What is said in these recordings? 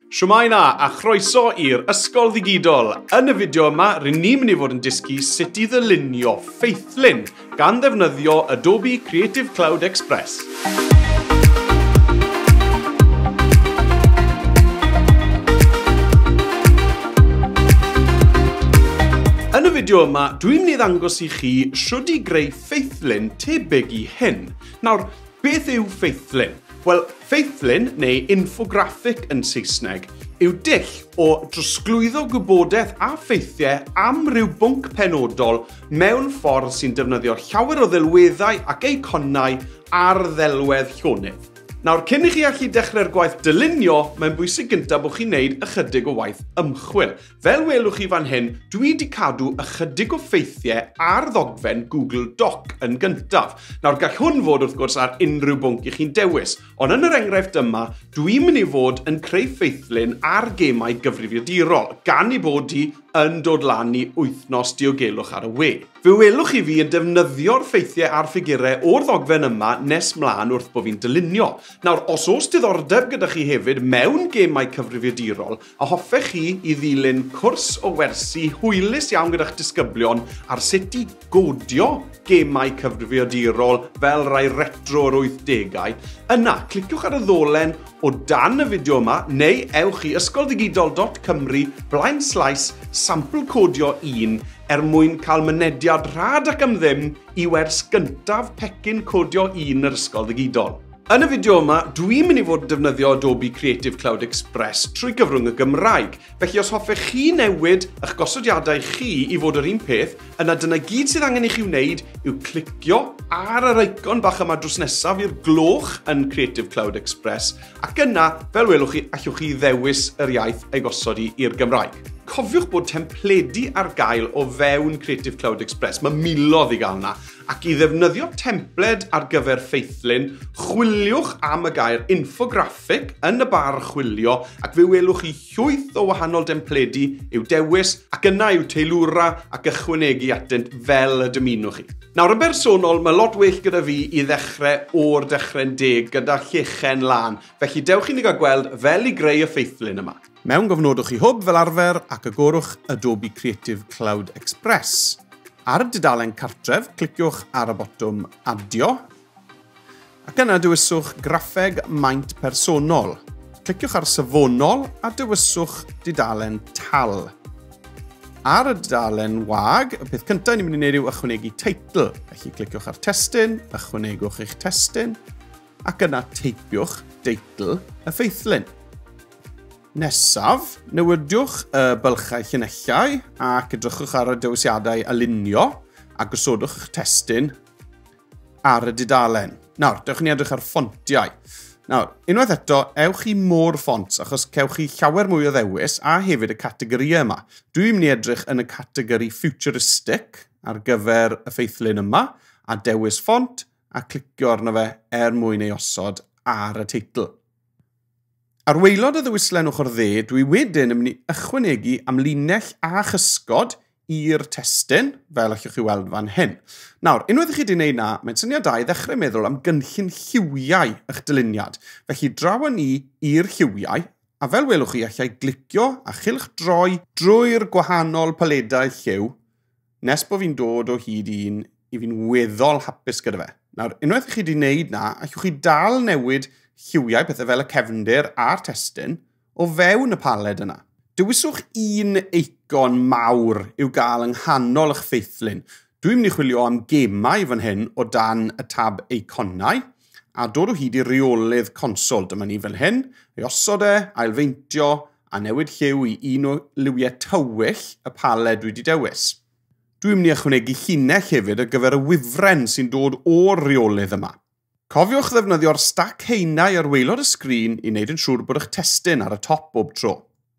Shwmae 'na, a chroeso i'r Ysgol Ddigidol. Yn y fideo yma, rŷn ni'n mynd i fod yn dysgu sut i ddylunio ffeithlun gan ddefnyddio Adobe Creative Cloud Express. Yn y fideo yma, dwi'n mynd i ddangos i chi shwd i greu ffeithlun tebyg i hyn. Nawr, beth yw ffeithlun? Wel, ffeithlun, neu infographic yn Saesneg, yw dull o drosglwyddo gwybodaeth a ffeithiau am ryw bwnc penodol mewn ffordd sy'n defnyddio llawer o ddelweddau ac eiconau ar ddelwedd llonydd. Nawr, cyn i chi allu dechrau'r gwaith dylunio, mae'n bwysig gyntaf bod chi'n neud ychydig o waith ymchwil. Fel welwch chi fan hyn, dwi 'di cadw ychydig o ffeithiau ar ddogfen Google Doc yn gyntaf. Nawr, gall hwn fod, wrth gwrs, ar unrhyw bwnc i chi'n dewis, ond yn yr enghraifft yma, dwi'n mynd i fod yn creu ffeithlun ar gemau gyfrifiadurol, gan ei bod hi yn dod lan i Wythnos Diogelwch ar y We. Fe welwch chi fi yn defnyddio'r ffeithiau a'r ffigurau o'r ddogfen yma nes mlaen wrth bo fi'n dylunio. Nawr, os oes diddordeb gyda chi hefyd mewn gemau cyfrifiadurol, a hoffech chi i ddilyn cwrs o wersi hwylus iawn gyda'ch disgyblion ar sut i godio gemau cyfrifiadurol fel rai retro o'r 80au, yna cliciwch ar y ddolen o dan y fideo yma neu ewch i ysgoldigidol.cymru blaen slaes sampl codio 1 er mwyn cael mynediad rhad ac am ddim i wers gyntaf pecyn codio 1 yr Ysgol Ddigidol. Yn y fideo yma, dwi'n mynd i fod yn defnyddio Adobe Creative Cloud Express trwy gyfrwng y Gymraeg. Felly os hoffech chi newid eich gosodiadau chi i fod yr un peth, yna dyna gyd sydd angen i chi wneud yw clicio ar yr icon bach yma drws nesaf i'r gloch yn Creative Cloud Express, ac yna, fel welwch chi, allwch chi ddewis yr iaith ei gosod i i'r Gymraeg. Cofiwch bod templedi ar gael o fewn Creative Cloud Express. Mae miloedd i gael yna. Ac i ddefnyddio templed ar gyfer ffeithlun, chwiliwch am y gair infographic yn y bar chwilio ac fe welwch chi llwyth o wahanol dempledi i'w dewis ac yna i'w teilwra ac ychwanegu atynt fel y dymunwch chi. Nawr, yn bersonol, mae lot well gyda fi i ddechrau o'r dechrau'n deg gyda llechen lân, felly dewch i ni gael gweld fel i greu y ffeithlun yma. Mewn gofnodwch i Hwb fel arfer ac agorwch Adobe Creative Cloud Express. Ar y dudalen cartref, cliciwch ar y botwm Adio, ac yna dewiswch Graffeg Maint Personol. Cliciwch ar Safonol a dewiswch dudalen Tal. Ar y dudalen wag, y peth cyntaf ni'n mynd i wneud yw ychwanegu teitl. Felly cliciwch ar testun, ychwanegwch eich testun, ac yna teipiwch deitl y ffeithlun. Nesaf, newidiwch y bylchau llinellau ac edrychwch ar y dewisiadau alinio a gosodwch eich testun ar y dudalen. Nawr, dewch ni edrych ar ffontiau. Nawr, unwaith eto, ewch i More Fonts, achos cewch chi llawer mwy o ddewis a hefyd y categorïau yma. Dwi'n mynd i edrych yn y categori Futuristic ar gyfer y ffeithlun yma, a dewis ffont a clicio arno fe er mwyn ei osod ar y teitl. Ar waelod y ddewislen ochr dde, dwi wedyn yn mynd i ychwanegu amlinell a chysgod i'r testun, fel allwch chi weld fan hyn. Nawr, unwaith i chi wedi gwneud na, mae'n syniad da i ddechrau meddwl am gynllun lliwiau eich dyluniad. Felly draw â ni i'r lliwiau, a fel welwch chi, allai glicio a chylchdroi drwy'r gwahanol paledau lliw, nes bod fi'n dod o hyd i un i fi'n weddol hapus gyda fe. Nawr, unwaith i chi wedi gwneud na, allwch chi dal newid lliwiau, pethau fel y cefndir a'r testun, o fewn y paled yna. Dewiswch un eicon mawr i'w gael yng nghanol eich ffeithlun. Dwi'n mynd i chwilio am gemau fan hyn o dan y tab eiconau, a dod o hyd i reolydd consol. Dyma ni fel hyn, ei osod e, ailfeintio, a newid lliw i un o liwiau tywyll y paled dwi wedi dewis. Dwi'n mynd i ychwanegu llinell hefyd ar gyfer y wifren sy'n dod o'r reolydd yma. Cofiwch ddefnyddio'r stac haenau ar waelod y sgrin i wneud yn siŵr bod eich testun ar y top bob tro.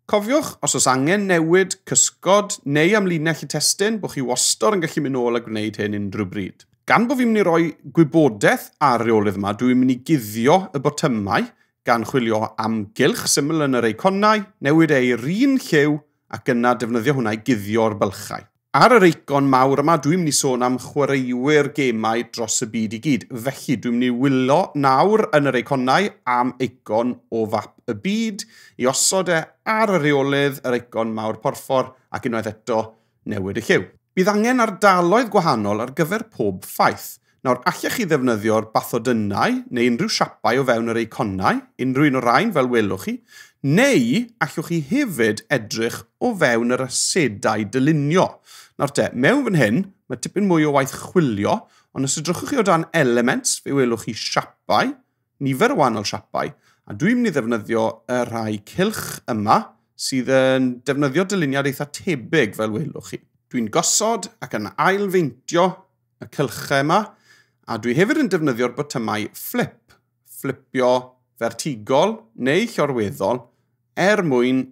Cofiwch, os oes angen newid, cysgod neu amlinell y testun, bod chi wastad yn gallu mynd nôl a gwneud hyn unrhyw bryd. Gan bod fi'n mynd i roi gwybodaeth ar reolydd yma, dwi'n mynd i guddio y botymau gan chwilio am gylch syml yn yr eiconau, newid e i'r un lliw ac yna defnyddio hwnna i guddio'r bylchau. Ar yr eicon mawr yma, dwi'n mynd i sôn am chwaraewyr gemau dros y byd i gyd. Felly, dwi'n mynd i wylo nawr yn yr eiconau am eicon o fap y byd, i osod e ar y rheolydd, yr eicon mawr porffor, ac unwaith eto newid y lliw. Bydd angen ardaloedd gwahanol ar gyfer pob ffaith. Nawr, allech chi ddefnyddio'r bathodynnau neu unrhyw siapau o fewn yr eiconau, unrhyw un o'r rhain fel welwch chi, neu allwch chi hefyd edrych o fewn yr asedau dylunio. Nawr te, mewn fan hyn, mae tipyn mwy o waith chwilio, ond os edrychwch chi o dan elements, fe welwch chi siapau, nifer o wahanol siapau, a dwi'n mynd i ddefnyddio y rhai cylch yma sydd yn defnyddio dyluniad eitha tebyg fel welwch chi. Dwi'n gosod ac yn ailfeintio y cylchau yma, a dwi hefyd yn defnyddio'r botymau flip, flipio fertigol neu llorweddol, er mwyn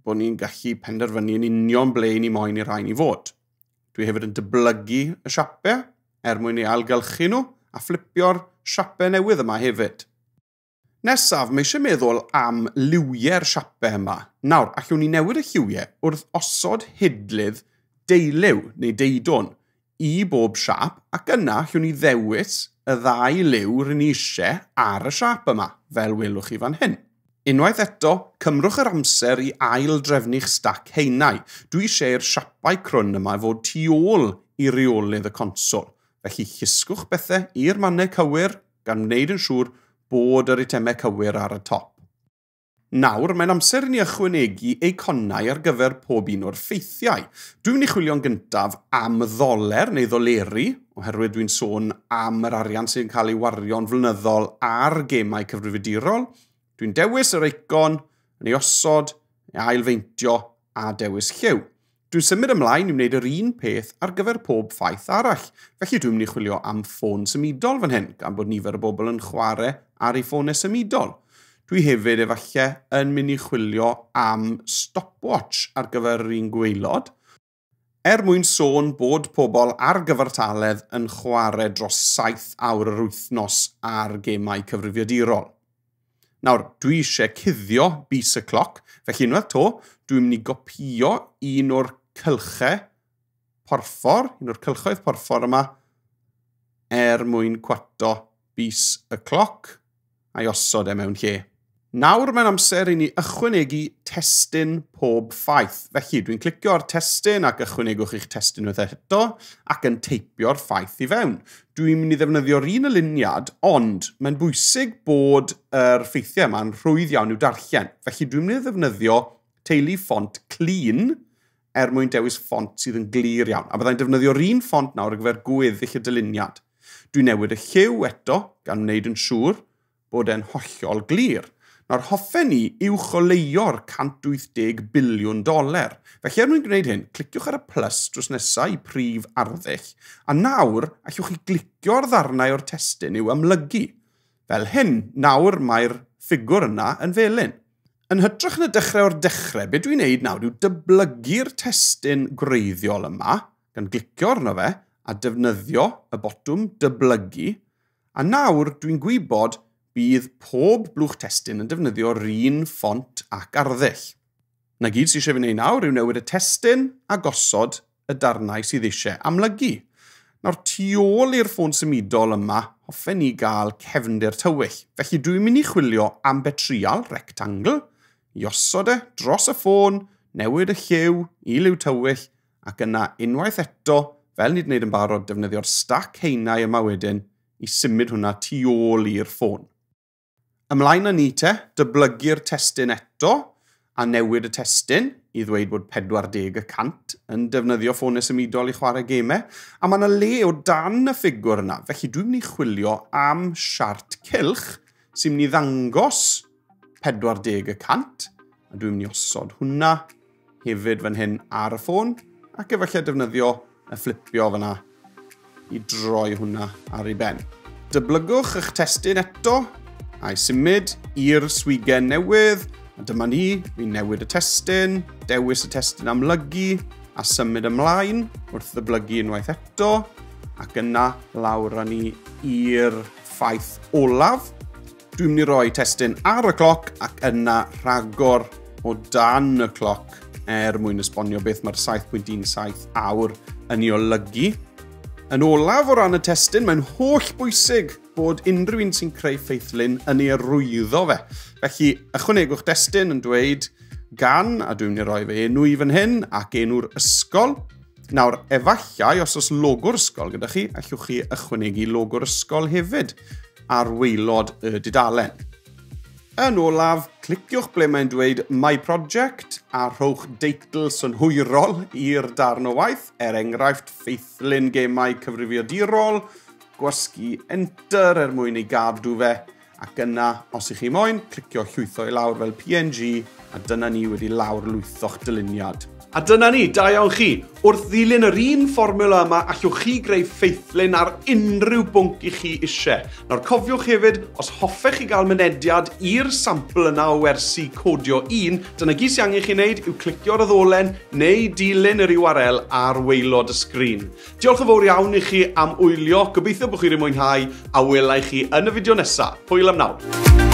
bod ni'n gallu penderfynu yn union ble ni moyn i'r rhain i fod. Dwi hefyd yn dyblygu y siapau er mwyn ei ailgylchu nhw a flipio'r siapau newydd yma hefyd. Nesaf, mae eisiau meddwl am liwiau'r siapau yma. Nawr, allwn ni newid y lliwiau wrth osod hidlydd deuliw neu deudwn i bob siap, ac yna allwn ni ddewis y ddau liw rydyn ni eisiau ar y siap yma, fel welwch chi fan hyn. Unwaith eto, cymrwch yr amser i ail-drefnu'ch stac haenau. Dwi eisiau i'r siapau crwn yma fod tu ôl i reolydd y consol. Felly llusgwch bethau i'r mannau cywir, gan wneud yn siŵr bod yr eitemau cywir ar y top. Nawr, mae'n amser i ni ychwanegu eiconau ar gyfer pob un o'r ffeithiau. Dwi'n mynd i chwilio'n gyntaf am ddoler neu ddoleri, oherwydd dwi'n sôn am yr arian sy'n cael ei wario'n flynyddol ar gemau cyfrifiadurol. Dwi'n dewis yr eicon, yn ei osod, ei ailfeintio a dewis lliw. Dwi'n symud ymlaen i wneud yr un peth ar gyfer pob ffaith arall. Felly dwi'n mynd i chwilio am ffôn symudol fan hyn, gan bod nifer o bobl yn chwarae ar eu ffonau symudol. Dwi hefyd efallai yn mynd i chwilio am stopwatch ar gyfer yr un gwaelod, er mwyn sôn bod pobl ar gyfartaledd yn chwarae dros 7 awr yr wythnos ar gemau cyfrifiadurol. Nawr, dwi eisiau cuddio bys y cloc, felly unwaith to, dwi'n mynd i gopio un o'r cylchau porffor, un o'r cylchoedd porffor yma, er mwyn cwato bys y cloc a'i osod e mewn lle. Nawr mae'n amser i ni ychwanegu testun pob ffaith. Felly dwi'n clicio ar testun ac ychwanegwch eich testun unwaith eto ac yn teipio'r ffaith i fewn. Dwi'n mynd i ddefnyddio'r un aliniad, ond mae'n bwysig bod yr ffeithiau yma'n rhwydd iawn i'w darllen. Felly dwi'n mynd i ddefnyddio teulu ffont clean er mwyn dewis ffont sydd yn glir iawn. A byddai'n defnyddio'r un ffont nawr ar gyfer gweddill y dyluniad. Dwi'n newid y lliw eto, gan wneud yn siŵr bod e'n hollol glir. Nawr, hoffen ni uwcholeuo'r $180 biliwn. Felly, er mwyn gwneud hyn, cliciwch ar y plus drws nesaf i prif arddull, a nawr allwch chi glicio'r ddarnau o'r testun i'w amlygu. Fel hyn, nawr mae'r ffigwr yna yn felyn. Yn hytrach na dechrau o'r dechrau, be dwi'n neud nawr yw dyblygu'r testun gwreiddiol yma, gan glicio arno fe, a defnyddio y botwm dyblygu, a nawr dwi'n gwybod bydd pob blwch testun yn defnyddio'r un ffont ac arddull. Na gyd sydd eisiau fi wneud nawr yw newid y testun a gosod y darnau sydd eisiau amlygu. Nawr, tu ôl i'r ffôn symudol yma, hoffen ni gael cefndir tywyll. Felly dwi'n mynd i chwilio am betrial, rectangle, i osod e dros y ffôn, newid y lliw i liw tywyll, ac yna unwaith eto, fel ni wedi gwneud yn barod, defnyddio'r stac haenau yma wedyn i symud hwnna tu ôl i'r ffôn. Ymlaen â ni te, dyblygu'r testun eto a newid y testun i ddweud bod 40% yn defnyddio ffonau symudol i chwarae gemau. A mae yna le o dan y ffigwr yna, felly dwi'n mynd i chwilio am siart cylch sy'n mynd i ddangos 40%, a dwi'n mynd i osod hwnna hefyd fan hyn ar y ffôn, ac efallai defnyddio y fflipio fyna i droi hwnna ar ei ben. Dyblygwch eich testun eto, a'i symud i'r swigen newydd, a dyma ni, fi'n newid y testun, dewis y testun amlygu, a symud ymlaen wrth ddyblygu unwaith eto, ac yna lawr â ni i'r ffaith olaf. Dwi'n mynd i roi testun ar y cloc ac yna rhagor o dan y cloc er mwyn esbonio beth mae'r 7.17 awr yn ei olygu. Yn olaf o ran y testun, mae'n holl bwysig bod unrhyw un sy'n creu ffeithlun yn ei arwyddo fe. Felly, ychwanegwch destun yn dweud gan, a dwi'n mynd i roi fe enw i fan hyn, ac enw'r ysgol. Nawr, efallai, os oes logo'r ysgol gyda chi, allwch chi ychwanegu logo'r ysgol hefyd ar waelod y dudalen. Yn olaf, cliciwch ble mae'n dweud My Project a rhowch deitl synhwyrol i'r darn o waith, er enghraifft ffeithlun gemau cyfrifiadurol, gwasgu Enter er mwyn ei gadw fe, ac yna, os ych chi moyn, clicio llwytho i lawr fel PNG, a dyna ni wedi lawr lwytho'ch dyluniad. A dyna ni, da iawn chi. Wrth ddilyn yr un fformula yma, allwch chi greu ffeithlun ar unrhyw bwnc i chi eisiau. Nawr cofiwch hefyd, os hoffech chi gael mynediad i'r sampl yna o wersi Codio 1, dyna gyd sy'n angen chi wneud yw clicio ar y ddolen neu dilyn yr URL ar waelod y sgrin. Diolch yn fawr iawn i chi am wylio, gobeithio bod chi wedi mwynhau, a welai chi yn y fideo nesaf. Hwyl am nawr.